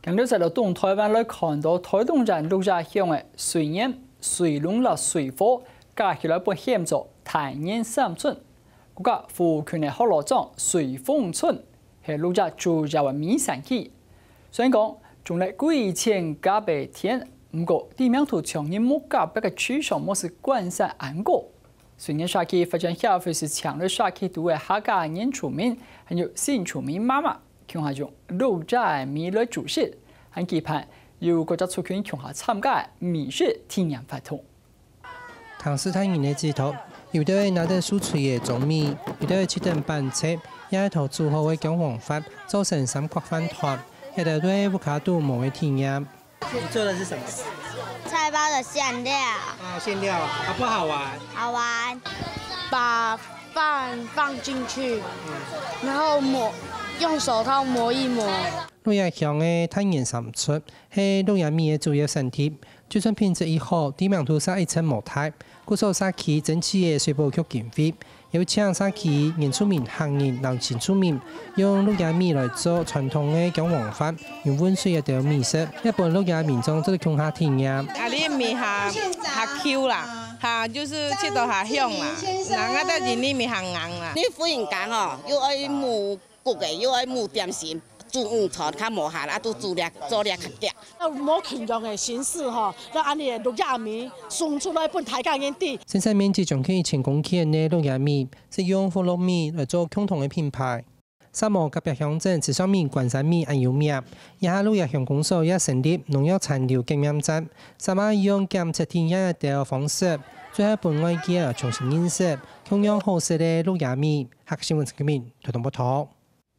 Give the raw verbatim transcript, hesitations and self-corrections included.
仰仔來到東臺灣來看到臺東縣鹿野鄉个水源、水龍摎水貨，加起來分喊做大源三村。 國家附近个福佬庄水豐村係鹿野主要个米產區。雖然講種了幾千甲个田，毋過知名度像日木隔壁个池上無係關山恁高。水源社區發展協會係請了社區肚个客家原住民，還有新住民媽媽，共下用鹿野个米來煮食，還舉辦有各隻族群共下參加个米食體驗活動。 聽時大人个指導，有兜仔拿等手炊个糌米，有兜仔切等粄條，也係同煮好个薑黃飯做成三角飯糰，這兜都係屋下肚無个體驗。你做的是什麼？菜包的餡料。啊，餡料，好不好玩？好玩。把飯放进去，然后磨，用手套磨一磨。鹿野鄉个大源三村係鹿野米个主要產地， 就算品質已好，知名度嗄一直無大，故所社區爭取个水保局經費，邀請社區原住民、客人摎新住民，用鹿野米來做傳統个薑黃飯、用溫水个兜米食，也分鹿野民眾做得共下體驗。啊，你米較，較Q啦，哈，就是食到較香啦，人家在這裡米較硬啦。你婦人家吼，又愛焐 穀个又愛焐點心，煮午餐較無閒，啊，都煮了，做了較遽。用無共樣个形式吼，來恁樣鹿野米送出來分大家人知。生產面積將近一千公頃个鹿野米，係用福佬米來做共同个品牌。沙漠隔壁鄉鎮池上米、關山米恁有名，這下鹿野鄉公所也成立農藥殘留檢驗站， 三媽用檢測體驗个方式，最好分外界重新認識共樣好食个鹿野米。客家新聞陳建明，臺東報導。